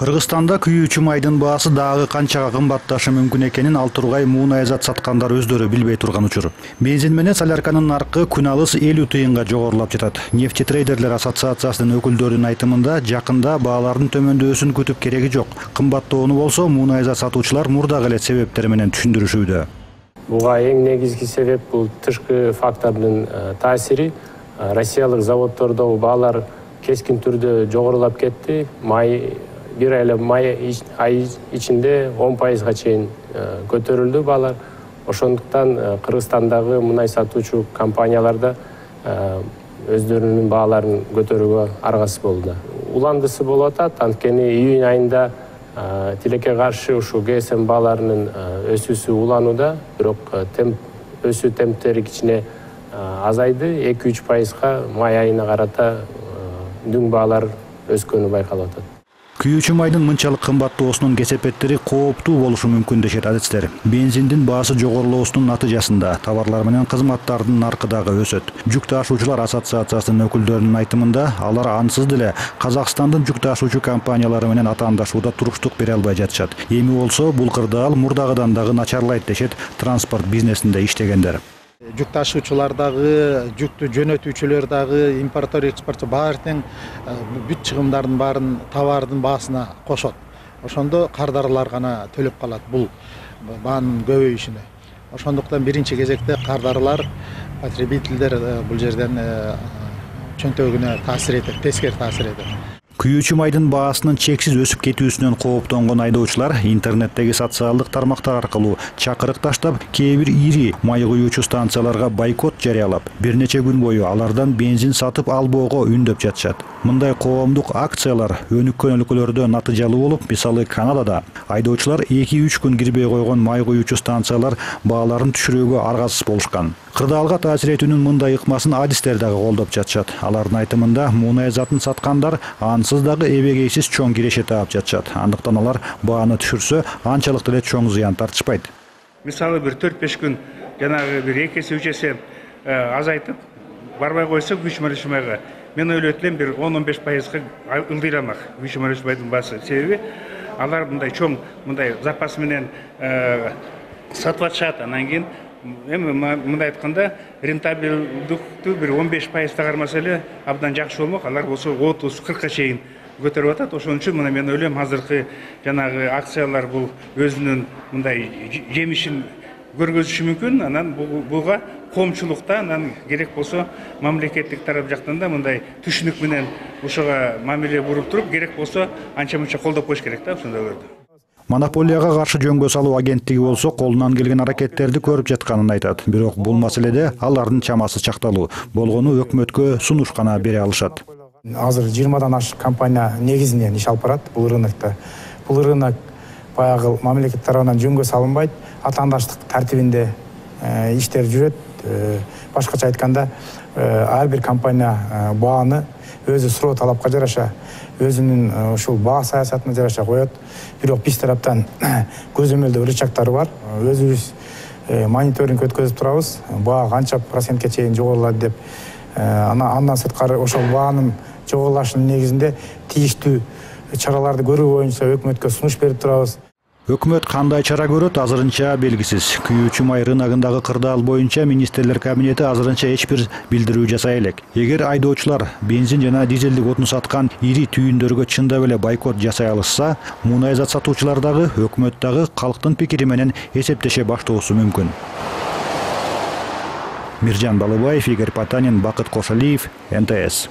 Кыргызстанда күйүүчү майдын баасы дагы канчага кымбатташы мүмкүн экенин ал тургай муунайзат саткандар өздөрү билбей турган учур. Бензин менен солярканын наркы күн алыс 50 тыйынга жогорулап жатат. Нефти трейдерлер ассоциациясынын өкүлдөрүнүн айтымында жакында баалардын төмөндөшүн күтүп кереги жок. Кымбаттоону болсо муунайзат сатуучулар мурдагы эле себептер менен түшүндүрүшүүдө. Буга эң негизги себеп бул тышкы фактордун таасири. Россиялык заводдордо баалар кескин түрдө жогорулап кетти. Бир ай ичинде 10%га чейин көтөрүлдү баалар. Ошондуктан Кыргызстандагы мунай сатуучу компаниялар да өздөрүнүн бааларын көтөрүүгө аргасыз болду. Уландысы болуп атат, анткени июнь айында тилекке каршы ушу ГСМ бааларынын өсүүсү уланууда, бирок өсүү темптери кичине азайды. 2-3%га май айына карата дүң баалар өскөнү байкалып атат. Күйүүчү майдын мынчалык кымбаттоосунун кесепеттери кооптуу болушу мүмкүн дешет адистер. Бензиндин баасы жогорулоосунун натыйжасында товарлар менен кызматтардын наркы дагы өсөт. Жүк ташуучулар ассоциациясынын өкүлдөрүнүн айтымында алар ансыз деле Казакстандын жүк ташуучу компаниялары менен атаандашууда туруштук бере албай жатышат. Эми болсо бул кырдаал мурдагыдан дагы начарлайт дешет транспорт бизнесинде иштегендер. Жүк ташуучулар дагы, жүктү жөнөтүүчүлөр дагы, импортер, экспортчу баары тең бүт чыгымдардын баарын товардын баасына кошот. Ошондо кардарлар гана төлөп калат бул баанын көбөйүшүнө. Ошондуктан биринчи кезекте кардарлар, потребительдер бул жерден чөнтөгүнө таасир этет, тескери таасир этет. Күйүүчү майдын баасынын чексиз өсүп кетүүсүнөн кооптонгон айдоочулар интернеттеги социалдык тармактар аркылуу чакырык таштап, кээ бир ири май куюучу станцияларга бойкот жарыялап, бир нече күн бою алардан бензин сатып албоого үндөп жатышат. Мындай коомдук акциялар өнүккөн өлкөлөрдө натыйжалуу болуп, мисалы Канадада айдоочулар 2-3 күн кирбей койгон май куюучу станциялар бааларын түшүрүүгө аргасыз болушкан. Кырдаалга таасир этүүнүн мындай ыкмасын адистер дагы колдоп жатышат. Алардын айтымында муунайзатын саткандар ансыз дагы эбегейсиз чоң киреше таап жатышат. Андыктан алар бааны түшүрсө, анчалык деле чоң зыян тартышпайт. Мисалы бир 4-5 күн жанагы бир 2 эсе 3 эсе азайтып барбай койсо күч майга мен ойлойт элем бир 10-15%га ылдыйрамак күч майдын баасы. Себеби алар мындай чоң мындай запас менен сатып атышат. Анан кийин эми мындай айтканда рентабелдүктү бир 15% кармаса эле абдан жакшы болмок. Алар болсо 30-40ка чейин көтөрүп атат. Ошон үчүн мына мен ойлойм азыркы жанагы акциялар бул өзүнүн мындай жемишин көргөзүшү мүмкүн. Анан буга коомчулукта анан керек болсо мамлекеттик тарап жактан да мындай түшүнүк менен ушуга мамиле буруп туруп, керек болсо анча-мынча колдоп коюш керек да ошондойлорду. Монополияга каршы жөнгө салуу агенттиги болсо колунан келген аракеттерди көрүп жатканын айтат. Бирок бул маселеде алардын чамасы чакталуу. Болгону өкмөткө сунуш гана бере алышат. Азыр 20дан ашык компания негизинен иш алып барат бул рынокто. Бул рынок баягы мамлекет тарабынан жөнгө салынбайт, атаандаштык тартибинде иштер жүрөт. Башкача айтканда, ар бир компания бааны өзү суроо талапка жараша, өзүнүн ушул баа саясатына жараша коет. Бирок биз тараптан көзөмөлдөө рычагтары бар. Өзүбүз мониторинг өткөзүп турабыз. Баа канча процентке чейин жогорулат деп. Андан сырткары ошол баанын жогорулашынын негизинде тийиштүү чараларды көрүү боюнча өкмөткө сунуш берип турабыз. Өкмөт кандай чара көрөт азырынча белгисиз. Күйүүчү май рыногундагы кырдаал боюнча министрлер кабинети азырынча эч бир билдирүү жасай элек. Эгер айдоочулар бензин жана дизелдик отун саткан ири түйүндөргө чындап эле бойкот жасай алышса, муунайзат сатуучулар дагы өкмөт дагы калктын пикири менен эсептеше баштоосу мүмкүн. Миржан Балыбаев, Игорь Потанин, Бакыт Кошалиев, НТС.